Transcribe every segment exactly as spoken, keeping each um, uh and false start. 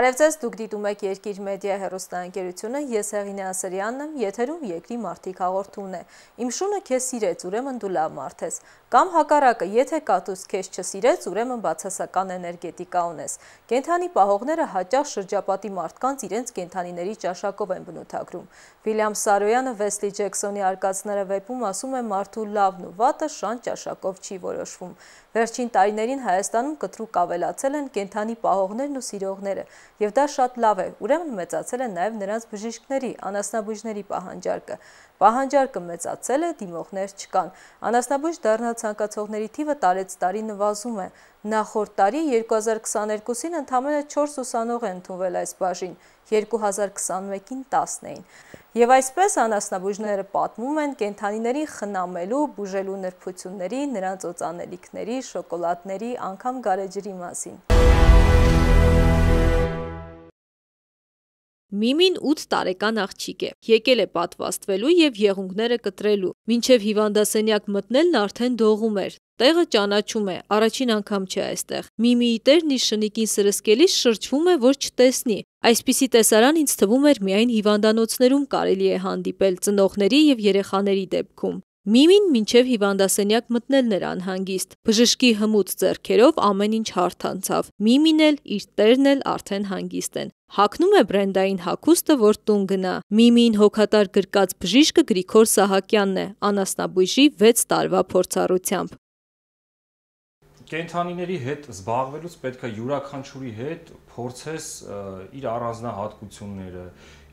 Բարև ձեզ, դուք դիտում եք Երկիր մեդիա հեռուստաընկերությունը, ես Հեղինե Ասրյանն եմ, եթերում Երկրի մարդիկ հաղորդումն է։ Իմ շունը քեզ սիրեց, ուրեմն դու լավ մարդ ես։ Կամ հակառակը, եթե կատուս քեզ չսիրեց, ուրեմն բացասական էներգետիկա ունես։ Կենդանի պահողները հաճախ շրջապատի մարդկանց իրենց կենդանիների ճաշակով են բնութագրում։ Վիլյամ Սարոյանը Վեսլի Ջեքսոնի արկածները վեպում ասում է մարդու լավն ու վատը շան ճաշակով չի որոշվում։ Վերջին տարիներին Հայաստանում կտրուկ ավելացել են կենդանի պահողներն ու սիրողները, եւ դա շատ լավ է, ուրեմն մեծացել է նաեւ նրանց բժիշկների, անասնաբույժների պահանջարկը։ Պահանջարկը մեծացել է, դիմողներ չկան։ Անասնաբույժ դառնալ ցանկացողների թիվը տարեց տարի նվազում է։ Նախորդ տարի երկու հազար քսաներկուսին ընդամենը չորս ուսանող է ընդունվել այս բաժին, երկու հազար քսանմեկին տասն էին։ Եվ այսպես անասնաբույժները պատմում են կենդանիներին խնամելու, բուժելու նրբությունների, նրանց օծանելիքների, շոկոլադների, անգամ գարեջրի մասին։ Միմին ութ տարեկան աղջիկ է, եկել է պատվաստվելու և եղունգները կտրելու, մինչև հիվանդասենյակ մտնելն արդեն դողում էր, տեղը ճանաչում է, առաջին անգամ չէ այստեղ, Միմիի տերն իր շնիկին սրսկելիս շրջվում է, որ չտեսնի, այսպիսի տեսարան ինձ թվում էր միայն հիվանդանոցներում կարելի է հանդիպել ծնողների և երեխաների դեպքում։ Միմին մինչև հիվանդասենյակ մտնելն էր անհանգիստ, բժշկի հմուտ ձեռքերով ամեն ինչ հարթ անցավ, Միմին էլ, իր տերն էլ արդեն հանգիստ են։ Հագնում է բրենդային հագուստը, որ տուն գնա։ Միմիին հոգատար գրկած բժիշկը Գրիգոր Սահակյանն է, անասնաբույժի վեց տարվա փորձառությամբ։ Կենդանիների հետ զբաղվելուց պետք է յուրաքանչյուրի հետ փորձես իր առանձնահատկությունները,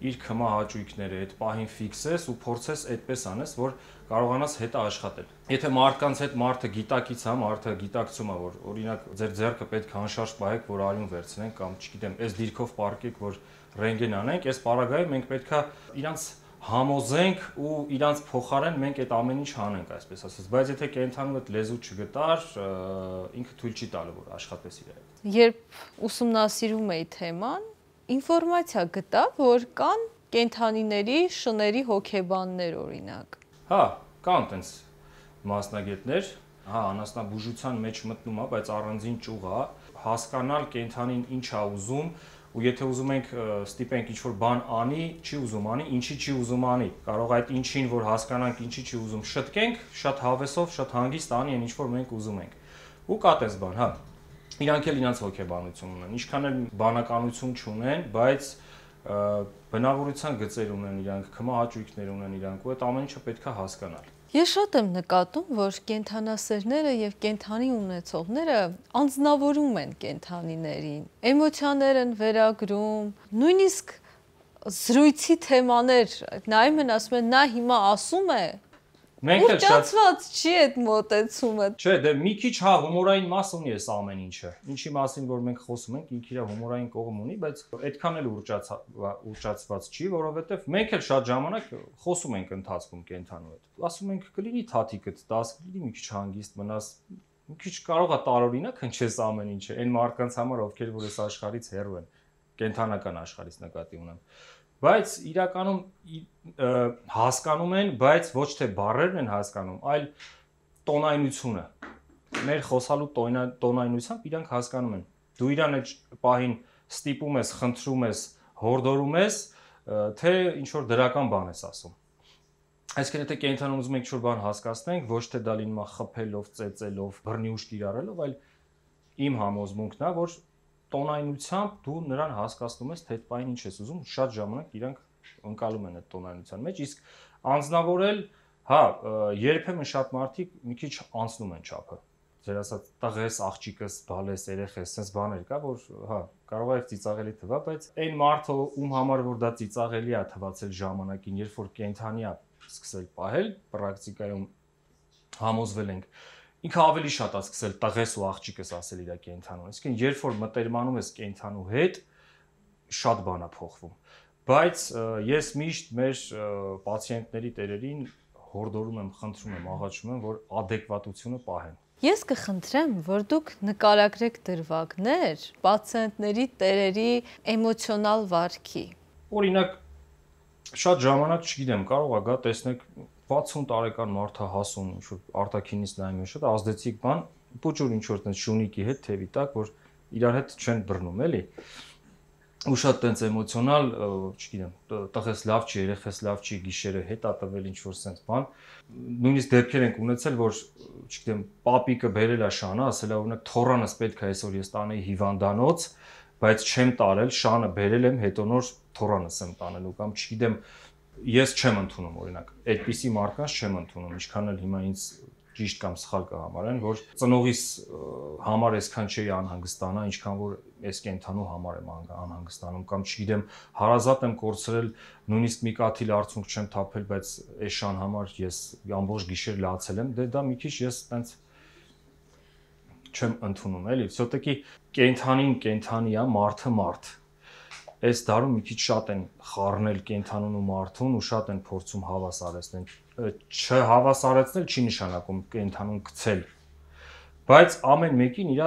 իր քմահաճույքները, այդ պահին ֆիքսես ու փորձես այդպես անես, որ կարողանաս հետը աշխատել։ Եթե մարդկանց հետ մարդը գիտակից է, մարդը գիտակցում է, որ օրինակ ձեր ձեռքը պետք է անշարժ պահեք, որ արյուն վերցնենք կամ չգիտեմ, այս դիրքով պարկեք, որ ռենտգեն անենք, այս պարագայում մենք պետք է իրանց համոզենք ու իրանց փոխարեն մենք այդ ամեն ինչ անենք, այսպես ասած, բայց եթե կենդանու այդ լեզու չգտար, ինքը թույլ չի տալու, որ աշխատես իր հետ։ Երբ ուսումնասիրում էի թեման, ինֆորմացիա գտա, որ կան կենդանիների շների հոգեբաններ, օրինակ։ Հա, կան տենց մասնագետներ, հա, անասնաբուժության մեջ մտնում է, բայց առանձին ճյուղ է, հասկանալ կենդանին ինչ է ուզում, ու եթե ուզում ենք ստիպենք ինչ-որ բան անի, չի ուզում անի, ինչի չի ուզում անի, կարող այդ ինչին, որ հասկանանք ինչի չի ուզում, շտկենք, շատ հավեսով, շատ հանգիստ անի այն ինչ-որ մենք ուզում ենք։ Ու կա տես բան, հա, իրանք էլ իրանց հոգեբանություն ունեն, ինչքան էլ բանականություն չունեն, բայց բնավորության գծեր ունեն իրանք, քմահաճույքներ ունեն իրանք, ու այդ ամեն ինչը պետք է հասկանալ։ Ես շատ եմ նկատում, որ կենդանասերները և կենդանի ունեցողները անձնավորում են կենդանիներին, էմոցիաներ են վերագրում, նույնիսկ զրույցի թեմաներ, նայում են, ասում են, նա հիմա ասում է, ուռճացված չի այդ մոտեցումը։ Չէ, դե մի քիչ հա հումորային մաս ունի այս ամեն ինչը, ինչի մասին որ մենք խոսում ենք, ինքը իր հումորային կողմ ունի, բայց այդքան էլ ուռճացված չի, որովհետև մենք էլ շատ ժամանակ խոսում ենք ընթացքում կենդանու հետ։ Ասում ենք կլինի թաթիկդ տաս, կլինի մի քիչ հանգիստ մնաս, մի քիչ կարող է տարօրինակ հնչես ամեն ինչը, այն մարդկանց համար, ովքեր որ այս աշխարհից հեռու են, կենդանական աշխարհից նկատի ունեմ։ Բայց իրականում հասկանում են, բայց ոչ թե բառերն են հասկանում, այլ տոնայնությունը։ Մեր խոսալու տոնայնությամբ իրանք հասկանում են։ Դու իրան այդ պահին ստիպում ես, խնդրում ես, հորդորում ես, թե ինչ որ դրական բան ես ասում։ Այսինքն եթե կենդանուն ուզում եք ինչ որ բան հասկացնենք, ոչ թե դա լինում է խփելով, ծեծելով, բռնի ուժ կիրառելով, այլ իմ համոզմունքն է, որ տոնայնությամբ դու նրան հասկացնում ես, թե այդ պահին ինչ ես ուզում, շատ ժամանակ իրանք ընկալում են այդ տոնայնության մեջ, իսկ անձնավորել, հա, երբեմն շատ մարդիկ մի քիչ անցնում են չափը։ Ձեր ասած տղես, աղջիկս, բալես, երեխես, sense բաներ կա, որ հա, կարող է ծիծաղելի թվա, բայց այն մարդը, ում համար որ դա ծիծաղելի է թվացել ժամանակին, երբ որ կենդանի է սկսել պահել, պրակտիկայում համոզվել ենք, ինքը ավելի շատ է սկսել տղես ու աղջիկս ասել իր կենդանուն։ Իսկ երբ որ մտերմանում ես կենդանու հետ, շատ բան է փոխվում։ Բայց ես միշտ մեր պացիենտների տերերին հորդորում եմ, խնդրում եմ, աղաչում եմ, որ ադեկվատությունը պահեն։ Ես կխնդրեմ, որ դուք նկարագրեք դրվագներ պացիենտների տերերի էմոցիոնալ վարքի։ Օրինակ, շատ ժամանակ չգիտեմ, կարող է գա տեսնեք վաթսուն տարեկան մարդը հասուն, ինչ-որ արտաքինից նայում է, շատ ազդեցիկ բան, պուճուր ինչ-որ տենց շունիկի հետ թևի տակ, որ իրար հետ չեն բռնում, էլի։ ու շատ տենց էմոցիոնալ, չգիտեմ, տղես լավ չի, երեխես լավ չի, գիշերը հետա տվել ինչ-որ sense բան։ Նույնիսկ դեպքեր ենք ունեցել, որ, չգիտեմ, պապիկը բերել է շանը, ասել է օրինակ թոռանս պետք է այսօր ես տանեի հիվանդանոց, բայց չեմ տարել, շանը բերել եմ, հետո նոր թոռանս եմ տանելու կամ չգիտեմ, ես չեմ ընդունում օրինակ, այդպիսի մարդկանց չեմ ընդունում, ինչքան էլ հիմա ինձ ճիշտ կամ սխալ կհամարեն, որ ծնողիս համար այսքան չի անհանգստանա, ինչքան որ այս կենթանու համար եմ անհանգստանում կամ չգիտեմ, հարազատ եմ կորցրել, նույնիսկ մի կաթիլ արցունք չեմ թափել, բայց այս շան համար ես ամբողջ գիշեր լացել եմ, դե դա մի քիչ ես տենց չեմ ընդունում, էլի, всё-таки կենթանին կենթանի է, մարդը մարդ։ Այս դարում մի քիչ շատ են խառնել կենթանուն ու մարդուն ու շատ են փորձում հավասարեցնել։ Չհավասարեցնել չի նշանակում կենթանուն գցել, բայց ամեն մեկին իր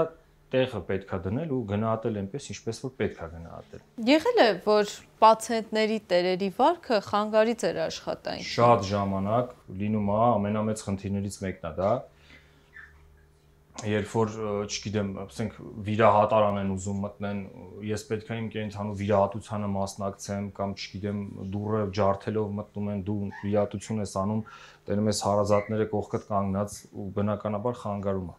տեղը պետքա դնել ու գնահատել այնպես, ինչպես որ պետքա գնահատել։ Եղել է, որ պացիենտների տերերի վարքը խանգարից էր աշխատանքին։ Շատ ժամանակ լինում է, ամենամեծ խնդիրներից մեկն է դա։ Երբ որ, չգիտեմ, ասենք վիրահատարան են ուզում մտնեն, ես պետք է իմ կենթանու վիրահատությանը մասնակցեմ կամ չգիտեմ, դուռը ջարդելով մտնում են, դու վիրահատություն ես անում, տենում ես հարազատները կողքդ կանգնած ու բնականաբար խանգարում է։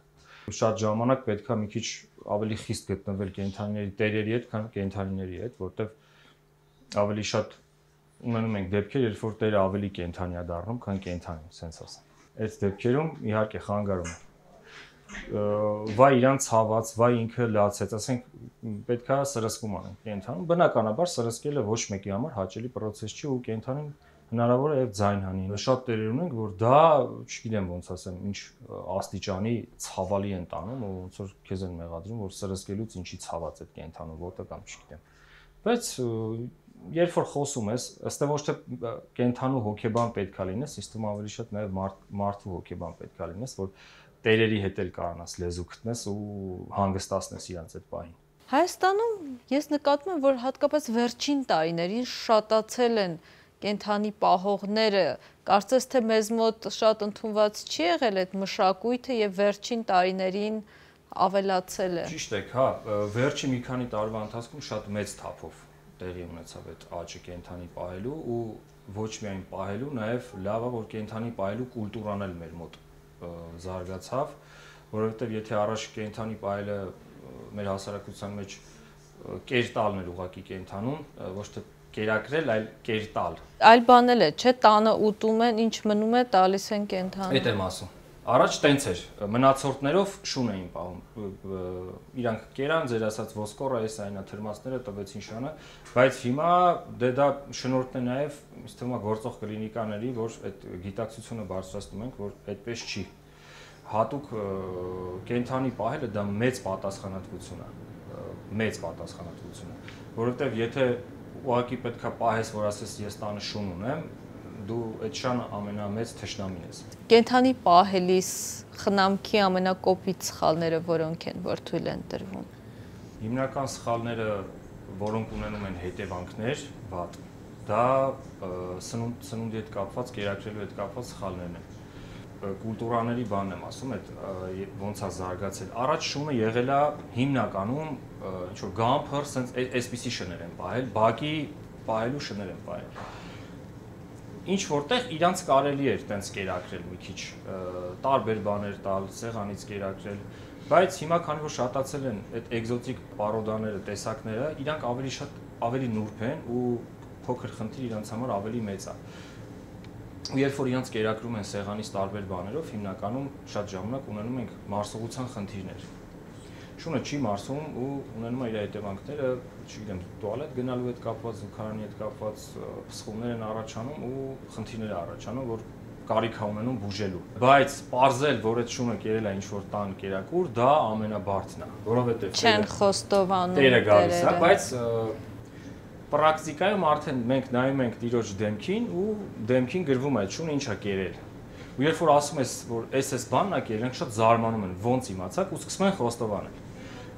Շատ ժամանակ պետք է մի քիչ ավելի խիստ գտնվել կենթանիների տերերի հետ, քան կենթանիների հետ, որտեվ ավելի շատ ունենում ենք դեպքեր, երբ որ տերը ավելի կենթանի է դառնում, քան կենթանի, ասենց ասեմ։ Այդ դեպքերում իհարկե խանգարում է։ Վայ իրան ցաված, վայ ինքը լացեց, ասենք պետքա սրսկում անենք կենթանում, բնականաբար սրսկելը ոչ մեկի համար հաճելի process չի ու կենթանին հնարավոր է եւ ձայն հանի։ Շատ տերեր ունենք, որ դա, չգիտեմ ոնց ասեմ, ինչ աստիճանի ցավալի են տանում ու ոնց որ քեզ են մեղադրում, որ սրսկելուց ինչի ցաված է կենթանու ոտը կամ չգիտեմ։ Բայց երբ որ խոսում ես, ըստ ոչ թե կենթանու հոգեբան պետքա լինես, իստում ավելի շատ նաեւ մարդու հոգեբան պետքա լինես, որ տերերի հետ էլ կարողանաս լեզու գտնես ու հանգստացնես իրանց այդ պահին։ Հայաստանում ես նկատում եմ, որ հատկապես վերջին տարիներին շատացել են կենթանի պահողները, կարծես թե մեզ մոտ շատ ընդունված չի եղել այդ մշակույթը եւ վերջին տարիներին ավելացել է։ Ճիշտ եք, հա, վերջի մի քանի տարվա ընթացքում շատ մեծ թափով տեղի ունեցավ այդ աճը կենթանի պահելու ու ոչ միայն պահելու, նաեւ լավ է որ կենթանի պահելու կուլտուրան էլ մեր մոտ զարգացավ, որովհետև եթե առաջ կենթանի պահելը մեր հասարակության մեջ կերտալն էր ուղղակի կենթանուն, ոչ թե կերակրել, այլ կերտալ։ Այլ բան էլ է, չէ, տանը ուտում են, ինչ մնում է, տալիս են կենթանուն։ Այդ եմ ասում։ Առաջ տենց էր, մնացորդներով շուն էին պահում, իրանք կերան, ձեր ասած ոսկորը, այս այնա թրմացները տվեցին շանը, բայց հիմա դե դա շնորհքն է նաև, ինձ թվում է գործող կլինիկաների, որ այդ գիտակցությունը բարձրացնում ենք, որ այդպես չի։ Հատուկ կենթանի պահելը դա մեծ պատասխանատվություն է, մեծ պատասխանատվություն է, որովհետև եթե ուղղակի պետքա պահես, որ ասես ես տանը շուն ունեմ, դու այդ շանը ամենամեծ թշնամին ես։ Կենթանի պահելիս խնամքի ամենակոպիտ սխալները որոնք են, որ թույլ են տրվում։ Հիմնական սխալները, որոնք ունենում են հետևանքներ, վատ, դա սնունդ, սնունդի հետ կապված, կերակրելու հետ կապված սխալներն են։ Կուլտուրաների բանն եմ ասում, այդ ոնց է զարգացել։ Առաջ շունը եղել է հիմնականում ինչ որ գամփր, sense այսպիսի շներ են պահել, բակի պահելու շներ են պահել։ Ինչ որտեղ իրանց կարելի էր տենց կերակրել մի քիչ, տարբեր բաներ տալ, սեղանից կերակրել, բայց հիմա քանի որ շատացել են այդ էկզոտիկ պարոդաները, տեսակները, իրանք ավելի շատ ավելի նուրբ են ու փոքր խնդիր իրանց համար ավելի մեծ է։ Ու երբ որ իրանց կերակրում են սեղանից տարբեր բաներով, հիմնականում շատ ժամանակ ունենում ենք մարսողության խնդիրներ։ Շունը չի մարսում ու ունենում է իր հետևանքները, չգիտեմ, տուալետ գնալու հետ կապված, զուգարանի հետ կապված փսխումներ են առաջանում ու խնդիրներ առաջանում, որ կարիք է ունենում բուժելու։ Բայց պարզել, որ այդ շունը կերել է ինչ-որ տան կերակուր, դա ամենաբարձն է, որովհետև չեն խոստովանում տերը գալիս է, բայց պրակտիկայում արդեն մենք նայում ենք տիրոջ դեմքին ու դեմքին գրվում է այդ շունը ինչ է կերել։ Ու երբ որ ասում ես, որ էս էս բանն է կերել, շատ զարմանում են, ոնց իմացաք ու սկսում են խոստովանել։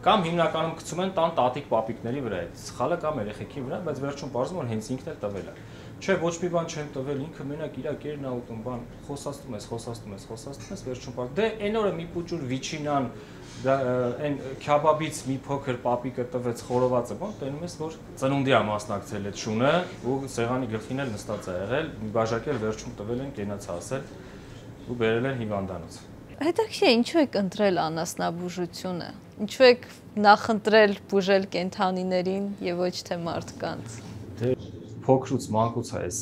Կամ հիմնականում գցում են տան տատիկ պապիկների վրա, սխալը կամ երեխեքի վրա, բայց վերջում պարզվում որ հենց ինքն էլ տվել է։ Չէ, ոչ մի բան չեմ տվել, ինքը մենակ իր կերն ա ուտում, բան, խոսաստում ես, խոսաստում ես, խոսաստում ես, վերջում պարզ։ Դե այն օրը մի պուճուր վիչինան, այն քյաբաբից մի փոքր պապիկը տվեց խորովածը, բան, տենում ես որ ծնունդի ա մասնակցել այդ շունը, ու սեղանի գլխին էլ նստած ա եղել, մի բաժակել վերջում տվել են, կենաց ասել ու բերել են հիվանդանոց։ Հետաքրքիր է, ինչու եք ընտրել անասնաբուժությունը։ Ինչու եք նախընտրել բուժել կենդանիներին եւ ոչ թե մարդկանց։ Դե փոքրուց մանկուց է այս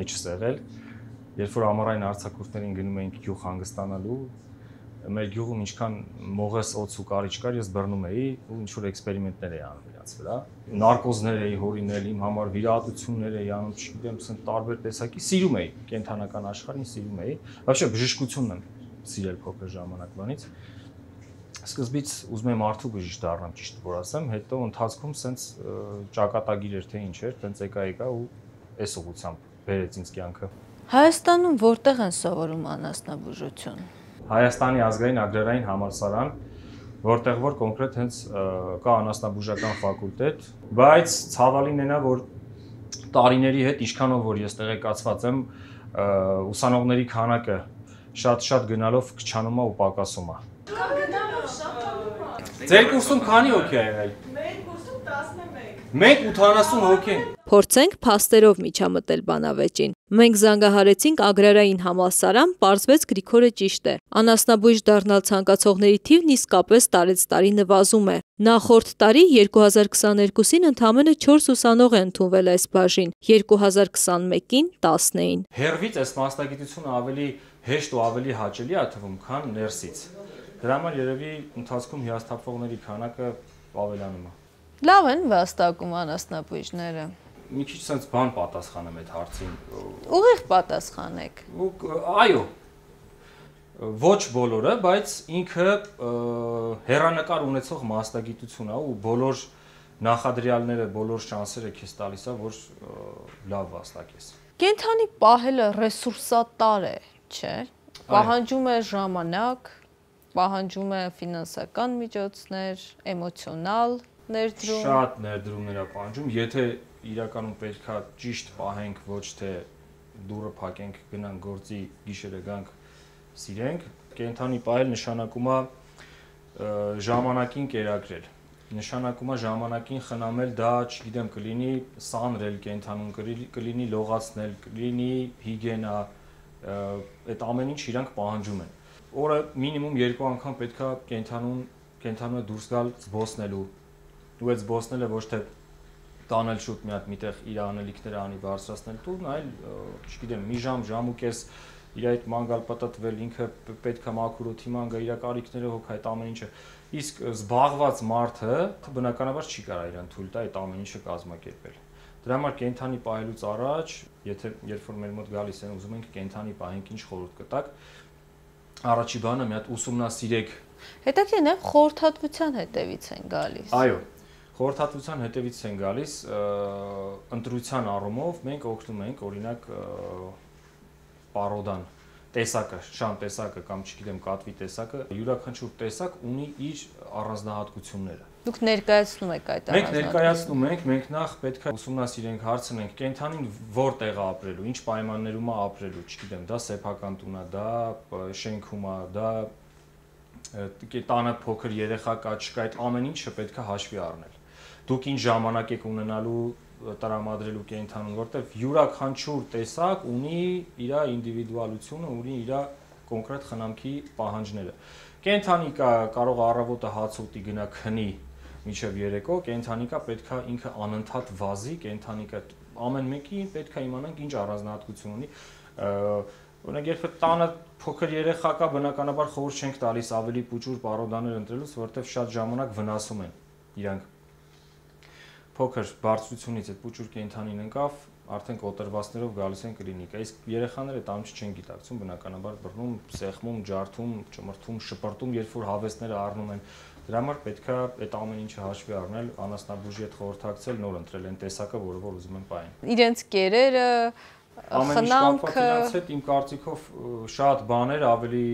մեջ սեղել, երբ որ ամառային արձակուրդներին գնում էինք գյուղ հանգստանալու, մեր գյուղում ինչքան մողես օձ ու կարիճ կար, ես բռնում էի ու ինչ որ էքսպերիմենտներ էի անում իրաց վրա։ Նարկոզներ էի հորինել, իմ համար վիրահատություններ էի անում, չգիտեմ, ասեն տարբեր տեսակի, սիրում էի կենդանական աշխարհին, սիրում էի։ Вообще բժշկությունն եմ սիրել փոքր ժամանակվանից։ Սկզբից ուզում եմ մարդու բժիշկ դառնամ, ճիշտ որ ասեմ, հետո ընթացքում սենց ճակատագիր էր թե ինչ էր, տենց եկա եկա ու այս ուղղությամբ բերեց ինձ կյանքը։ Հայաստանում որտեղ են սովորում անասնաբուժություն։ Հայաստանի ազգային ագրարային համալսարան, որտեղ որ կոնկրետ հենց կա անասնաբուժական ֆակուլտետ, բայց ցավալին էնա, որ տարիների հետ ինչքանով որ ես տեղեկացված եմ, ուսանողների քանակը շատ-շատ գնալով քչանում է ու պակասում է։ Ձեր կուրսում քանի հոգի է եղել։ Մեր կուրսում տասնմեկ։ Մենք ութանասուն հոգի ենք։ Փորձենք փաստերով միջամտել բանավեճին։ Մենք զանգահարեցինք ագրարային համալսարան, պարզվեց Գրիգորը ճիշտ է։ Անասնաբույժ դառնալ ցանկացողների թիվն իսկապես տարեց տարի նվազում է։ Նախորդ տարի երկու հազար քսաներկուսին ընդամենը չորս ուսանող է ընդունվել այս բաժին, երկու հազար քսանմեկին տասն էին։ Հերվից այս մասնագիտությունը ավելի հեշտ ու ավելի հաճելի է թվում, քան ներսից։ Դրա համար երևի ընթացքում հիասթափվողների քանակը ավելանում է։ Լավ են վաստակում անասնաբույժները։ Մի քիչ sense բան պատասխանեմ այդ հարցին։ Ուղիղ պատասխանեք։ Այո։ Ոչ բոլորը, բայց ինքը հերանեկար ունեցող մասնագիտություն է ու բոլոր նախադրյալները, բոլոր շանսերը քեզ տալիս է, որ լավ վաստակես։ Կենդանի պահելը ռեսուրսատար է, չէ՞։ Պահանջում է ժամանակ, պահանջում է ֆինանսական միջոցներ, էմոցիոնալ ներդրում։ Շատ ներդրումներ է պահանջում, եթե իրականում պետքա ճիշտ պահենք, ոչ թե դուրը փակենք, գնանք գործի, գիշերը գանք, սիրենք, կենդանի պահել նշանակում է ժամանակին կերակրել։ Նշանակում է ժամանակին խնամել, դա, չգիտեմ, կլինի սանրել կենդանուն, կլինի լողացնել, կլինի հիգիենա, այդ ամեն ինչ իրանք պահանջում են։ Օրը մինիմում երկու անգամ պետքա կենդանուն, կենդանունը դուրս գալ զբոսնելու, ու այդ զբոսնելը ոչ թե տանել շուտ մի հատ միտեղ իր անելիքները անի բարձրացնել տուն, այլ, չգիտեմ, մի ժամ, ժամ ու կես իր այդ մանգալ պատտվել, ինքը պետքա մաքուր օդի ման գա, իր կարիքները հոգ այդ ամեն ինչը։ Իսկ զբաղված մարդը բնականաբար չի կարող իրան թույլ տա այդ ամեն ինչը կազմակերպել։ Դրա համար կենդանի պահելուց առաջ, եթե երբ որ մեր մոտ գալիս են ուզում ենք կենդանի պահենք, ինչ խորհուրդ կտակ, առաջի բանը մի հատ ուսումնասիրեք։ Հետաքրքիր է, խորհրդատվության հետևից են գալիս։ Այո, խորհրդատվության հետևից են գալիս, ընտրության առումով մենք օգնում ենք, օրինակ, պարոդան տեսակը, շան տեսակը կամ չգիտեմ կատվի տեսակը, յուրաքանչյուր տեսակ ունի իր առանձնահատկությունները։ Դուք ներկայացնում եք այդ առանձնահատկությունները։ Մենք ներկայացնում ենք, մենք նախ պետք է ուսումնասիրենք, հարցնենք կենդանին որտեղ է ապրելու, ինչ պայմաններում է ապրելու, չգիտեմ, դա սեփական տուն է, դա շենքում է, դա տանը փոքր երեխա կա, չկա, այդ ամեն ինչը պետք է հաշվի առնել։ Դուք ինչ ժամանակ եք ունենալու տրամադրելու կենդանուն, որտեղ յուրաքանչյուր տեսակ ունի իր ինդիվիդուալությունը, ունի իր կոնկրետ խնամքի պահանջները։ Կենդանի կա կարող առավոտը հաց ուտի գնա քնի մինչև երեկո, կենդանիկա պետքա ինքը անընդհատ վազի, կենդանիկա ամեն մեկի պետքա իմանանք ինչ առանձնահատկություն ունի։ Օրինակ երբ տանը փոքր երեխա կա, բնականաբար խորհուրդ չենք տալիս ավելի պուճուր պարոդաներ ընտրելուց, որտեղ շատ ժամանակ վնասում են իրանք։ Փոքր բարձրությունից այդ պուճուր կենդանին ընկավ, արդեն կոտրվածներով գալիս են կլինիկա։ Իսկ երեխաները այդ ամենը չեն գիտակցում, բնականաբար բռնում, սեղմում, ջարդում, ճմրթում, շպրտում, երբ որ հավեսները առնում են։ Դրա համար պետքա այդ ամեն ինչը հաշվի առնել, անասնաբուժի հետ խորհրդակցել, նոր ընտրել այն տեսակը, որը որ ուզում են պահեն։ Իրենց կերերը, խնամքը, իրանց հետ իմ կարծիքով շատ բաներ ավելի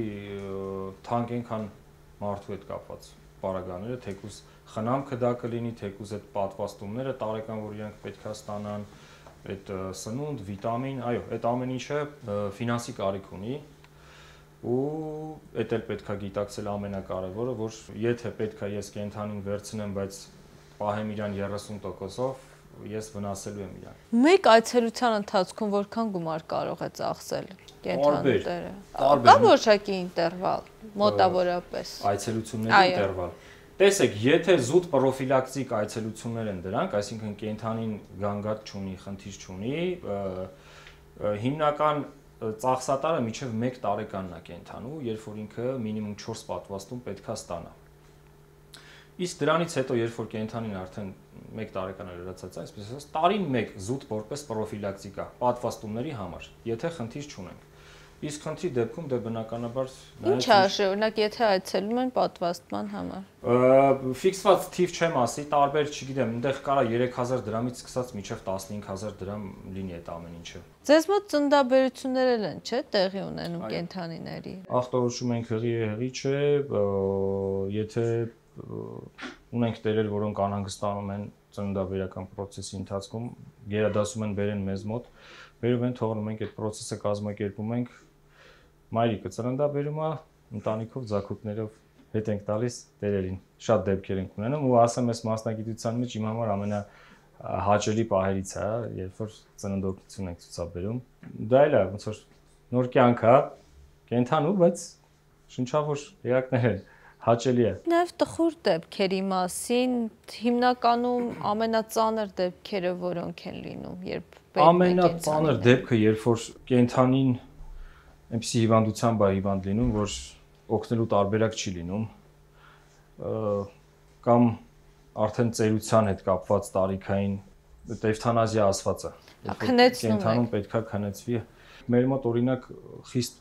թանկ են, քան մարդու հետ կապված պարագաները, թեկուզ խնամքը դա կլինի, թեկուզ այդ պատվաստումները տարեկան, որ իրենք պետք է ստանան, այդ սնունդ, վիտամին, այո, այդ ամեն ինչը ֆինանսի կարիք ունի ու այդ էլ պետք է գիտակցել ամենակարևորը, որ եթե պետք է ես կենդանին վերցնեմ, բայց պահեմ իրան երեսուն տոկոսով, ես վնասելու եմ իրան։ Մեկ այցելության ընթացքում որքան գումար կարող է ծախսել կենդանու տերը։ Տարբեր։ Կա որոշակի ինտերվալ, մոտավորապես։ Այցելությունների ինտերվալ։ Տեսեք, եթե զուտ պրոֆիլակտիկ այցելություններ են դրանք, այսինքն կենդանին գանգատ չունի, խնդիր չունի, հիմնական ծախսատարը մինչև մեկ տարեկանն է կենդանու, երբ որ ինքը մինիմում չորս պատվաստում պետք է ստանա։ Իսկ դրանից հետո, երբ որ կենդանին արդեն մեկ տարեկան է լրացած, այսպես ասած, տարին մեկ զուտ որպես պրոֆիլակտիկա պատվաստումների համար, եթե խնդիր չունենք։ Իսկ խնդրի դեպքում դե բնականաբար Ինչ արժե, օրինակ, եթե այցելում են պատվաստման համար։ Ֆիքսված թիվ չեմ ասի, տարբեր, չգիտեմ, այնտեղ կարա երեք հազար դրամից սկսած մինչև տասնհինգ հազար դրամ լինի այդ ամեն ինչը։ Ձեզ մոտ ծննդաբերություններ են, չէ՞, տեղի ունենում կենդանիների։ Ախտորոշում ենք հղի է, հղի չէ, եթե ունենք տերեր, որոնք անհանգստանում են ծննդաբերական process-ի ընթացքում, գերադասում են բերեն մեզ մոտ, բերում են, թողնում ենք այդ process-ը կազմակերպում ենք, մայրիկը ծննդաբերում է, ընտանիքով, ձագուկներով հետ ենք տալիս տերերին, շատ դեպքեր ենք ունենում ու ասեմ ես մասնագիտության մեջ իմ համար ամենահաճելի պահերից է, երբ որ ծննդօգնություն ենք ցուցաբերում, դա էլ է ոնց որ նոր կյանք է, կենդանու, բայց շնչավոր էակներ են, հաճելի է։ Նաև տխուր դեպքերի մասին, հիմնականում ամենածանր դեպքերը որոնք են լինում, երբ ամենածանր դեպքը, երբ որ կենդանին այնպիսի հիվանդությամբ է հիվանդ լինում, որ օգնելու տարբերակ չի լինում, կամ արդեն ծերության հետ կապված տարիքային էվթանազիա ասված է, կենդանում պետք է քնեցվի։ Մեր մոտ օրինակ խիստ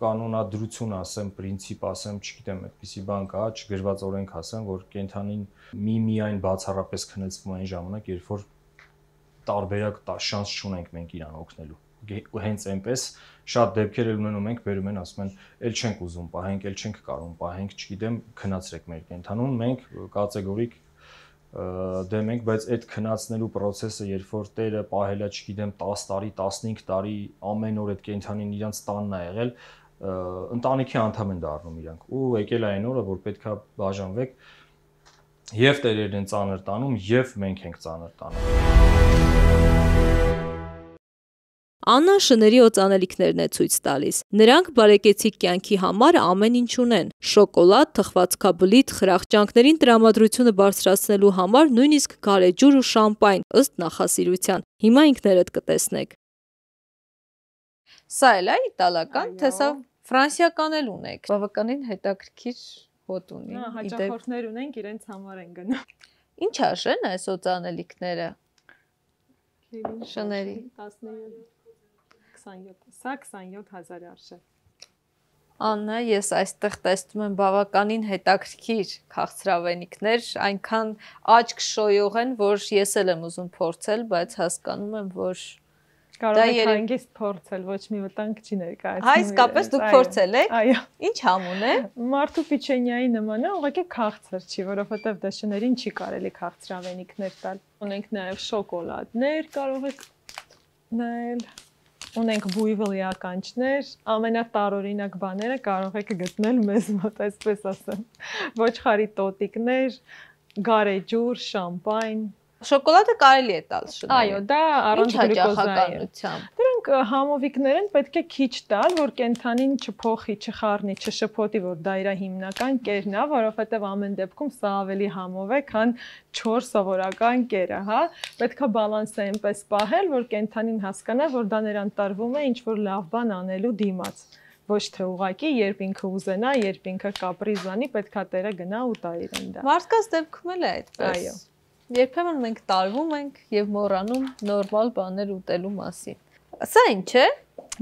կանոնադրություն ասեմ, պրինցիպ ասեմ, չգիտեմ, այդպիսի բան կա, չգրված օրենք ասեմ, որ կենդանին միմիայն բացառապես քնեցվում այն ժամանակ, երբ որ տարբերակ շանս չունենք մենք իրան օգնելու։ Հենց այնպես շատ դեպքեր էլ ունենում ենք, բերում են, ասում են, «Էլ չենք ուզում պահենք, էլ չենք կարող պահենք, չգիտեմ, քնացրեք մեր կենդանուն», մենք կատեգորիկ դեմ ենք, բայց այդ քնացնելու process-ը, երբ որ տերը պահել է, չգիտեմ, տասը տարի, տասնհինգ տարի, ամեն օր այդ կենդանին իրանց տանն է եղել, ընտանիքի անդամ են դառնում իրանք։ Ու եկել է այն օրը, որ պետք է բաժանվեք, եւ տերերն են ծանր տանում, եւ մենք ենք ծանր տանում։ Աննան շների օծանելիքներն է ցույց տալիս։ Նրանք բարեկեցիկ կյանքի համար ամեն ինչ ունեն՝ շոկոլադ, թխվածքաբլիթ, խրախճանքներին տրամադրությունը բարձրացնելու համար նույնիսկ գարեջուր ու շամպայն, ըստ նախասիրության։ Հիմա ինքներդ կտեսնեք։ Սա էլ է իտալական, թե սա ֆրանսիական էլ ունեք։ Բավականին հետաքրքիր հոտ ունի։ Հաճախորդներ ունենք, իրենց համար են գնում։ Ինչ արժեն այս օծանելիքները։ Շների Սա քսանյոթ հազար արժե։ Աննա, ես այստեղ տեսնում եմ բավականին հետաքրքիր քաղցրավենիքներ, այնքան աչք շոյող են, որ ես էլ եմ ուզում փորձել, բայց հասկանում եմ, որ կարող եք հանգիստ փորձել, ոչ մի վտանգ չի ներկայացնում։ Հա, իսկապես դուք փորձել եք։ Այո։ Ինչ համուն է։ Մարդու պիչենիայի նման է, ուղղակի քաղցր չի, որովհետև դա շներին չի կարելի քաղցրավենիքներ տալ։ Ունենք նաև շոկոլադներ, կարող եք նայել։ Ունենք բույվլի ականջներ, ամենատարօրինակ բաները կարող եք գտնել մեզ մոտ, այսպես ասեմ։ Ոչխարի տոտիկներ, գարեջուր, շամպայն։ Շոկոլադը կարելի է տալ շներին։ Այո, դա առանց գլյուկոզայի է։ Դրանք համովիկներ են, պետք է քիչ տալ, որ կենդանին չփոխի, չխառնի, չշփոթի, որ դա իր հիմնական կերն է, որովհետև ամեն դեպքում սա ավելի համով է, քան չոր սովորական կերը, հա։ Պետք է բալանսը այնպես պահել, որ կենդանին հասկանա, որ դա նրան տարվում է ինչ-որ լավ բան անելու դիմաց։ Ոչ թե ուղակի, երբ ինքը ուզենա, երբ ինքը կապրիզանի, պետք է տերը գնա ու տա իրեն դա։ Մարդկանց դեպքում էլ է այդպես։ Այո։ Երբեմն մենք տարվում ենք եւ մոռանում նորմալ բաներ ուտելու մասին։ Սա ինչ է։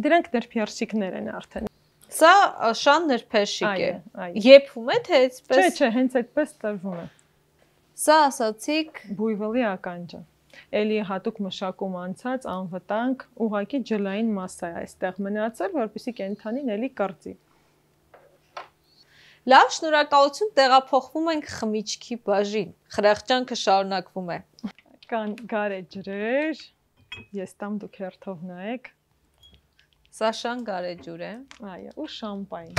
Դրանք նրբերշիկներ են արդեն։ Սա շան նրբերշիկ է։ Այո։ Եփում է թե այդպես։ Չէ, չէ, հենց այդպես տրվում է։ Սա ասացիք բույվլի ականջը։ Էլի հատուկ մշակում անցած անվտանգ, ուղղակի ջլային մասսա է այստեղ մնացել, որպեսզի կենդանին էլի կրծի։ Լավ, շնորհակալություն, տեղափոխվում ենք խմիչքի բաժին։ Խրախճանքը շարունակվում է։ Կան գարեջրեր, ես տամ դուք հերթով նայեք։ Սաշան գարեջուր է։ Այո, ու շամպայն։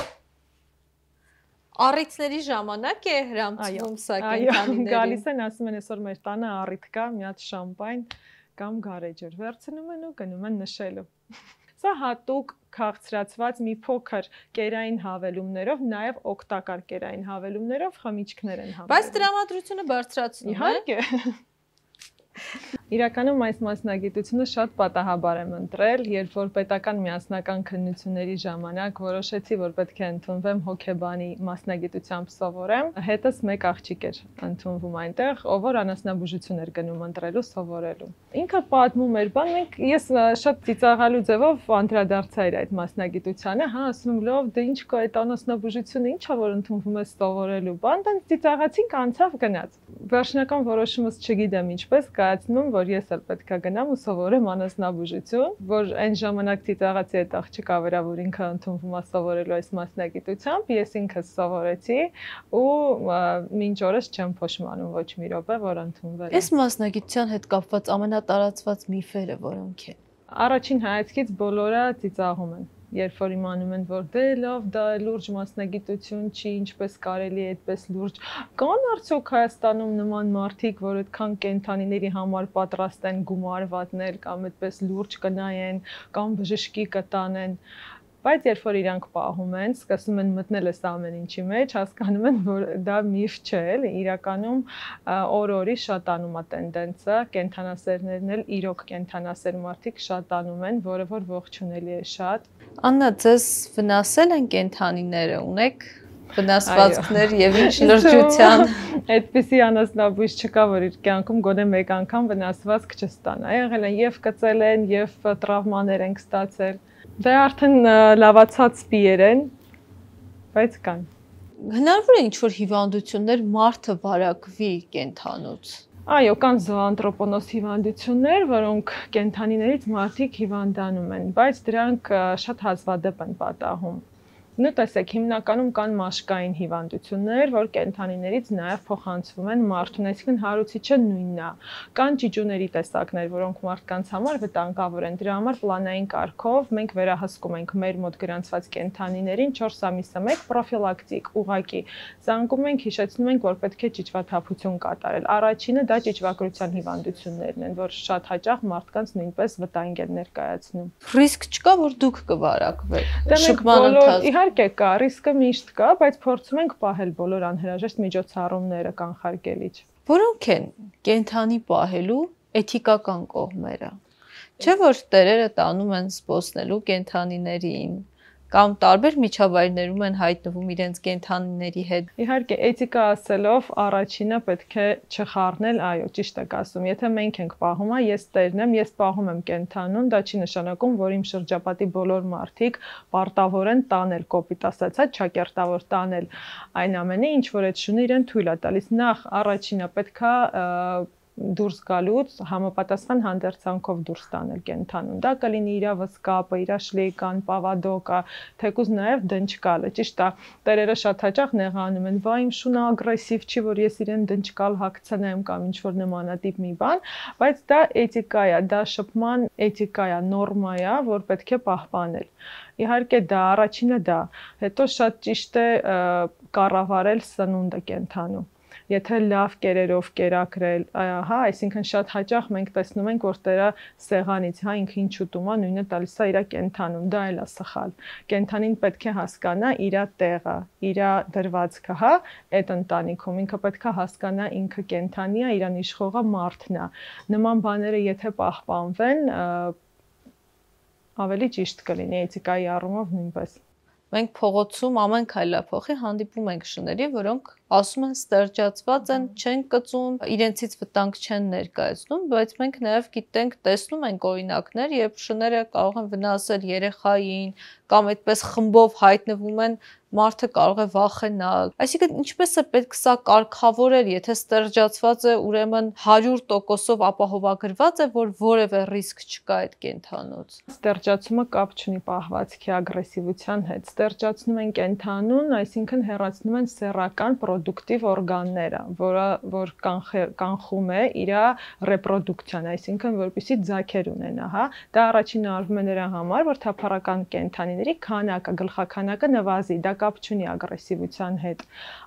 Առիթների ժամանակ է հրամցվում սա կենդանիներին։ Այո, գալիս են, ասում են այսօր մեր տանը առիթ կա, մի հատ շամպայն կամ գարեջուր, վերցնում են ու գնում են նշելու։ Սա հատուկ քաղցրացված մի փոքր կերային հավելումներով, նաև օգտակար կերային հավելումներով խմիչքներ են հավելում։ Բայց տրամադրությունը բարձրացնում է։ Իհարկե։ Իրականում այս մասնագիտությունը շատ պատահաբար եմ ընտրել, երբ որ պետական միասնական քննությունների ժամանակ որոշեցի, որ պետք է ընդունվեմ հոգեբանի մասնագիտությամբ սովորեմ, հետս մեկ աղջիկ էր ընդունվում այնտեղ, ով որ անասնաբուժություն էր գնում ընտրելու սովորելու։ Ինքը պատմում էր, բան մենք ես շատ ծիծաղալու ձևով անդրադարձա էր այդ մասնագիտությանը, հա, ասում եմ, լավ, դե ինչ կա այդ անասնաբուժությունը, ինչա որ ընդունվում է սովորելու, բան, դեռ ծիծաղացինք, անցավ գնաց։ Վերջնական որոշումս չգիտեմ ինչպես կայացնում, որ ես էլ պետք է գնամ ու սովորեմ անասնաբուժություն, որ այն ժամանակ ծիծաղացի այդ աղջիկը վրա, որ ինքը ընդունվում է սովորելու այս մասնագիտությամբ, ես ինքս սովորեցի ու մինչ օրս չեմ փոշմանում ոչ մի րոպե, որ ընդունվել եմ։ Այս մասնագիտության հետ կապված ամենատարածված միֆերը որոնք են։ Առաջին հայացքից բոլորը ծիծաղում են։ Երբ որ իմանում են, որ դե լավ, դա լուրջ մասնագիտություն չի, ինչպես կարելի է այդպես լուրջ։ Կան արդյոք Հայաստանում նման մարդիկ, որ այդքան կենդանիների համար պատրաստ են գումար վատնել կամ այդպես լուրջ կնայեն կամ բժշկի կտանեն։ Բայց երբ որ իրանք պահում են, սկսում են մտնել այս ամեն ինչի մեջ, հասկանում են, որ դա միֆ չէ, էլի, իրականում օր-օրի շատանում է տենդենսը, կենդանասերներն էլ իրոք կենդանասեր մարդիկ շատանում են, որը որ ողջունելի է շատ։ Աննա, ձեզ վնասել են կենդանիները, ունեք վնասվածքներ եւ ինչ լրջության։ Այդպիսի անասնաբույժ չկա, որ իր կյանքում գոնե մեկ անգամ վնասվածք չստանա։ Եղել են եւ կծել են, եւ տրավմաներ են ստացել։ Դա արդեն լավացած սպիեր են, բայց կան։ Հնարավոր է ինչ-որ հիվանդություններ մարդը վարակվի կենդանուց։ Այո, կան զոանտրոպոնոս հիվանդություններ, որոնք կենդանիներից մարդիկ հիվանդանում են, բայց դրանք շատ հազվադեպ են պատահում։ Նույն տեսեք, հիմնականում կան մաշկային հիվանդություններ, որ կենդանիներից նաև փոխանցվում են մարդուն, այսինքն հարուցիչը նույնն է։ Կան ճիճուների տեսակներ, որոնք մարդկանց համար վտանգավոր են։ Դրա համար պլանային կարգով մենք վերահսկում ենք մեր մոտ գրանցված կենդանիներին չորս ամիսը մեկ պրոֆիլակտիկ, ուղղակի զանգում ենք, հիշեցնում ենք, որ պետք է ճիճվաթափություն կատարել։ Առաջինը դա ճիճվագրության հիվանդություններն են, որ շատ հաճախ մարդկանց նույնպես վտանգ են ներկայացնում։ Ռիսկ չկա, որ դուք կվարակվեք։ Շփման ընթացքում իհարկե կա, ռիսկը միշտ կա, բայց փորձում ենք պահել բոլոր անհրաժեշտ միջոցառումները կանխարգելիչ։ Որոնք են կենդանի պահելու էթիկական կողմերը։ Չէ՞ որ տերերը տանում են զբոսնելու կենդանիներին կամ տարբեր միջավայրներում են հայտնվում իրենց կենդանիների հետ։ Իհարկե, էթիկա ասելով առաջինը պետք է չխառնել, այո, ճիշտ եք ասում։ Եթե մենք ենք պահում, ես տերն եմ, ես պահում եմ կենդանուն, դա չի նշանակում, որ իմ շրջապատի բոլոր մարդիկ պարտավոր են տանել, կոպիտ ասացած, չակերտավոր տանել այն ամենը, ինչ որ այդ շունը իրեն թույլ է տալիս։ Նախ առաջինը պետքա դուրս գալուց համապատասխան հանդերձանքով դուրս տանել կենդանուն։ Դա կլինի իր վսկապը, իր շլեյկան, պավադոկը, թեկուզ նաև դնչկալը։ Ճիշտ է, տերերը շատ հաճախ նեղանում են, վայ իմ շունը ագրեսիվ չի, որ ես իրեն դնչկալ հագցնեմ կամ ինչ որ նմանատիպ մի բան, բայց դա էթիկա է, դա շփման էթիկա է, նորմա է, որ պետք է պահպանել։ Իհարկե դա առաջինը դա, հետո շատ ճիշտ է կառավարել սնունդը կենդանու։ Եթե լավ կերերով կերակրել, հա, այսինքն շատ հաճախ մենք տեսնում ենք, որ տերը սեղանից, հա, ինքը ինչ ուտում է, նույնը տալիս է իր կենդանուն, դա էլ է սխալ։ Կենդանին պետք է հասկանա իր տեղը, իր դրվածքը, հա, այդ ընտանիքում, ինքը պետք է հասկանա ինքը կենդանի է, իրան իշխողը մարդն է։ Նման բաները եթե պահպանվեն, ավելի ճիշտ կլինի էթիկայի առումով նույնպես։ Մենք փողոցում ամեն քայլափոխի հանդիպում ենք շների, որոնք ասում են ստերջացված են, չեն կծում, իրենցից վտանգ չեն ներկայացնում, բայց մենք նաև գիտենք, տեսնում ենք օրինակներ, երբ շները կարող են վնասել երեխային կամ այդպես խմբով հայտնվում են, մարդը կարող է վախենալ։ Այսինքն ինչպես է պետք սա կարգավորել, եթե ստերջացված է, ուրեմն հարյուր տոկոսով ապահովագրված է, որ որևէ ռիսկ չկա այդ կենդանուց։ Ստերջացումը կապ չունի պահվածքի ագրեսիվության հետ։ Ստերջացնում են կենդանուն, այսինքն հեռացնում են սեռական պրոդուկտիվ օրգանները, որը որ կանխում է իր ռեպրոդուկցիան, այսինքն որպեսզի ձագեր ունենա, հա։ Դա առաջինը արվում է նրա համար, որ թափառական կենդանիների քանակը, գլխաքանակը նվազի, դա կապ չունի ագրեսիվության հետ։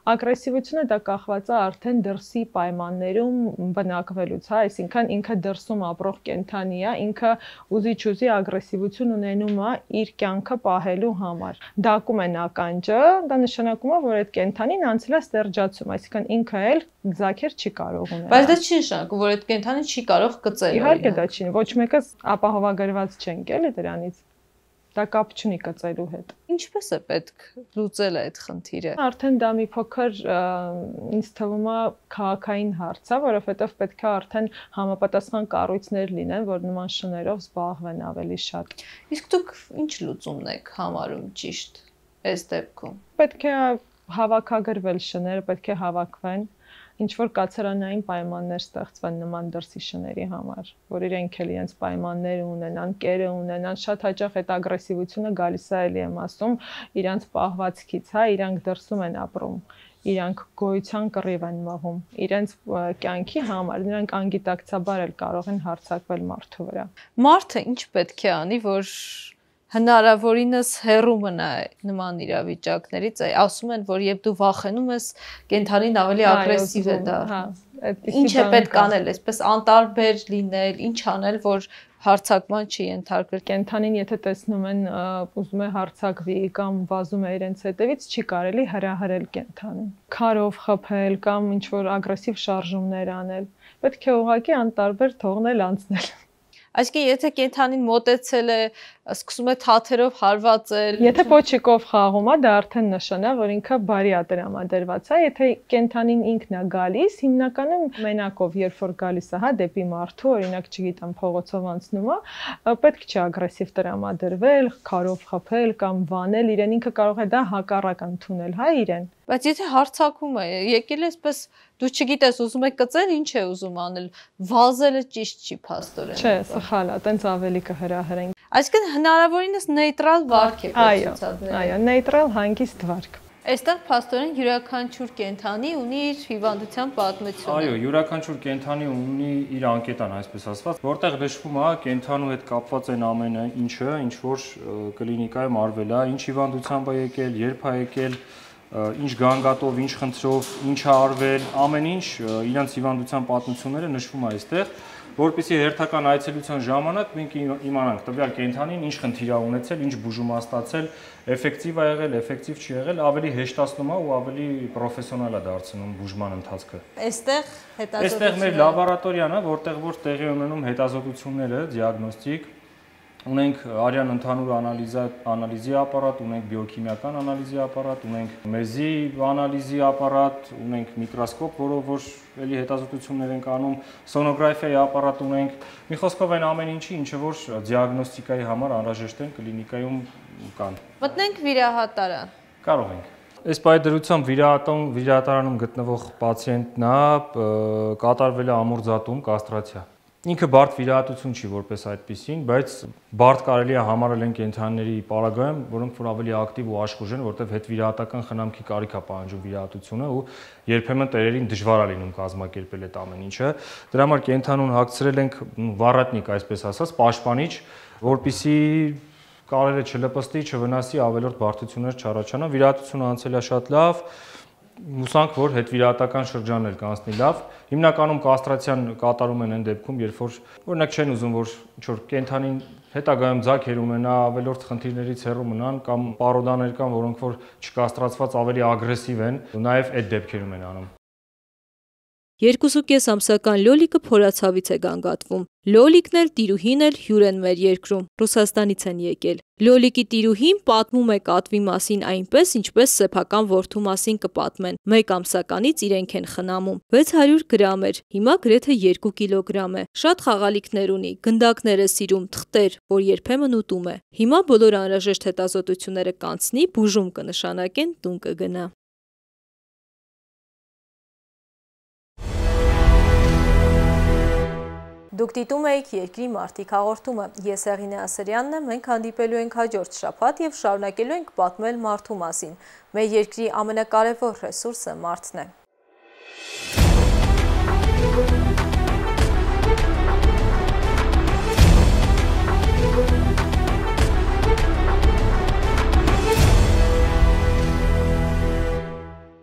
Ագրեսիվությունը դա կախված է արդեն դրսի պայմաններում բնակվելուց, հա, այսինքն ինքը դրսում ապրող կենդանի է, ինքը ուզի-չուզի ագրեսիվություն ունենում է իր կյանքը պահելու համար։ Դակում են ականջը, դա նշանակում է, որ այդ կենդանին անցել է ստերջացում, այսինքն ինքը էլ ձագեր չի կարող ունել։ Բայց դա չի նշանակում, որ այդ կենդանին չի կարող կծել։ Իհարկե դա չի, ոչ մեկը ապահովագրված չենք էլի դրանից։ Դա կապ չունի կծելու հետ։ Ինչպես է պետք լուծել այդ խնդիրը։ Արդեն դա մի փոքր ինձ թվում է քաղաքային հարց է, որովհետև պետք է արդեն համապատասխան կառույցներ լինեն, որ նման շներով զբաղվեն ավելի շատ։ Իսկ դուք ինչ լուծումն եք համարում ճիշտ այս դեպքում։ Պետք է հավաքագրվել շները, պետք է հավաքվեն, ինչ որ կացարանային պայմաններ ստեղծվեն նման դրսի շների համար, որ իրենք էլ իրենց պայմանները ունենան, կերը ունենան, շատ հաճախ այդ ագրեսիվությունը գալիս է, էլի եմ ասում, իրանց պահվածքից, հա, իրանք դրսում են ապրում, իրանք գոյության կռիվ են մղում, իրենց կյանքի համար, նրանք անգիտակցաբար էլ կարող են հարձակվել մարդու վրա։ Մարդը ինչ պետք է անի, որ հնարավորինս հեռու մնա նման իրավիճակներից, ասում են, որ երբ դու վախենում ես, կենդանին ավելի ագրեսիվ է դա։ Ինչ է պետք անել, այսպես անտարբեր լինել, ինչ անել, որ հարձակման չի ենթարկվել։ Կենդանին եթե տեսնում են ուզում է հարձակվի կամ վազում է իրենց հետևից, չի կարելի հրահրել կենդանին։ Քարով խփել կամ ինչ որ ագրեսիվ շարժումներ անել։ Պետք է ուղղակի անտարբեր թողնել անցնել։ Այսինքն եթե կենդանին մոտեցել է, սկսում է թաթերով հարվածել, եթե պոչիկով խաղում է, դա արդեն նշան է, որ ինքը բարի է տրամադրված է, եթե կենդանին ինքն է գալիս, հիմնականում մենակով երբ որ գալիս է, հա, դեպի մարդու, օրինակ, չգիտեմ, փողոցով անցնում է, պետք չի ագրեսիվ տրամադրվել, քարով խփել կամ վանել իրեն, ինքը կարող է դա հակառակ ընդունել, հա, իրեն։ Բայց եթե հարձակում է, եկել է այսպես դու չգիտես, ուզում եք կծել, ինչ է ուզում անել, վազելը ճիշտ չի փաստորեն։ Չէ, սխալ է, տենց ավելի կհրահրեն։ Այսինքն հնարավորինս նեյտրալ վարք է ցուցադրել։ Այո, նեյտրալ հանգիստ վարք։ Այստեղ փաստորեն յուրաքանչյուր կենդանի ունի իր հիվանդության պատմությունը։ Այո, յուրաքանչյուր կենդանի ունի իր անկետան, այսպես ասված, որտեղ նշվում է կենդանու հետ կապված են ամենը, ինչը, ինչ որ կլինիկայում արվել է, ինչ հիվանդությամբ է եկել, երբ է եկել, ինչ գանգատով, ինչ խնդրով, ինչ է արվել, ամեն ինչ իրենց հիվանդության պատմությունները նշվում է այստեղ, որպեսզի հերթական այցելության ժամանակ մենք իմանանք տվյալ կենդանին ինչ խնդիր է ունեցել, ինչ բուժում է ստացել, էֆեկտիվ է եղել, էֆեկտիվ չի եղել, ավելի հեշտացնում է ու ավելի պրոֆեսիոնալ է դարձնում բուժման ընթացքը։ Այստեղ հետազոտությունները։ Այստեղ մեր լաբորատորիան է, որտեղ որ տեղի ունենում հետազոտությունները, դիագնոստիկ, ունենք արյան ընդհանուր անալիզի ապարատ, ունենք բիոքիմիական անալիզի ապարատ, ունենք մեզի անալիզի ապարատ, ունենք միկրոսկոպ, որով որ էլի հետազոտություններ ենք անում, սոնոգրաֆիայի ապարատ ունենք, մի խոսքով այն ամեն ինչի, ինչը որ դիագնոստիկայի համար անհրաժեշտ են կլինիկայում կան։ Մտնենք վիրահատարան։ Կարող ենք։ Այս պայդրությամբ վիրահատարանում գտնվող պացիենտն է, կատարվել է ամորձատում, կաստրացիա։ Ինքը բարդ վիրահատություն չի որպես այդպիսին, բայց բարդ կարելի է համարել են կենդանիների պարագայում, որոնք որ ավելի ակտիվ ու աշխուժ են, որտեղ հետվիրահատական խնամքի կարիք է պահանջում վիրահատությունը ու երբեմն տերերին դժվար է լինում կազմակերպել այդ ամեն ինչը։ Դրա համար կենդանուն հագցրել ենք վառատնիկ, այսպես ասած, պաշտպանիչ, որպեսզի կարերը չլպստի, չվնասի, ավելորդ բարդություններ չառաջանա։ Վիրահատությունը անցել է շատ լավ։ Հուսանք, որ հետվիրահատական շրջանն էլ կանցնի լավ։ Հիմնականում կաստրացիան կատարում են այն դեպքում, երբ որ օրինակ չեն ուզում, որ ինչ-որ կենդանին հետագայում ձագեր ունենա, ավելորդ խնդիրներից հեռու մնան կամ պարոդաներ կան, որոնք որ չկաստրացված ավելի ագրեսիվ են, նաև այդ դեպքերում են անում։ երկուսուկես ամսական Լոլիկը փորացավից է գանգատվում։ Լոլիկն էլ տիրուհին էլ հյուր են մեր երկրում, Ռուսաստանից են եկել։ Լոլիկի տիրուհին պատմում է կատվի մասին այնպես, ինչպես սեփական որդու մասին կպատմեն։ Մեկ ամսականից իրենք են խնամում։ վեց հարյուր գրամ էր, հիմա գրեթե երկու կիլոգրամ է։ Շատ խաղալիքներ ունի, գնդակներ է սիրում, թղթեր, որ երբեմն ուտում է։ Հիմա բոլոր անհրաժեշտ հետազոտությունները կանցնի, բուժում կնշանակեն, տուն կգնա։ Դուք դիտում եք Երկրի մարդիկ հաղորդումը։ Ես Հեղինե Ասրյանն եմ, մենք հանդիպելու ենք հաջորդ շաբաթ եւ շարունակելու ենք պատմել մարդու մասին։ Մեր երկրի ամենակարևոր ռեսուրսը մարդն է։